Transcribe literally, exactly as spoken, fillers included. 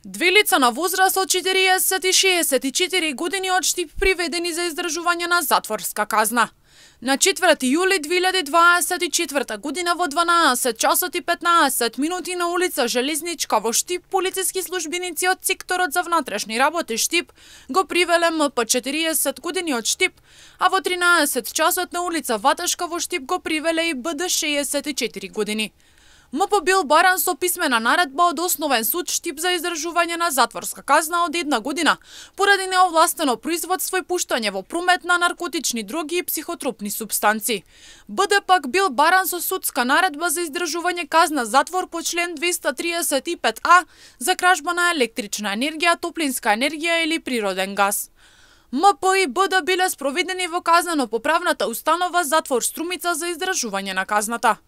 Две лица на возраст од четириесет и шеесет и четири години од Штип приведени за издржување на затворска казна. На четврти јули две илјади дваесет и четврта година во дванаесет часот и петнаесет минути на улица Железничка во Штип, полициски службеници од секторот за внатрешни работи Штип го привеле М П четириесет години од Штип, а во тринаесет часот на улица Ваташка во Штип го привеле и Б Д шеесет и четири години. М П бил баран со писмена наредба од Основен суд Штип за издржување на затворска казна од една година поради неовластено производство и пуштање во промет на наркотични дроги и психотропни супстанци. Б Д пак бил баран со судска наредба за издржување казна затвор по член двеста триесет и пет А за кражба на електрична енергија, топлинска енергија или природен газ. М П и Б Д биле спроведени во казнено-поправната установа затвор Струмица за издржување на казната.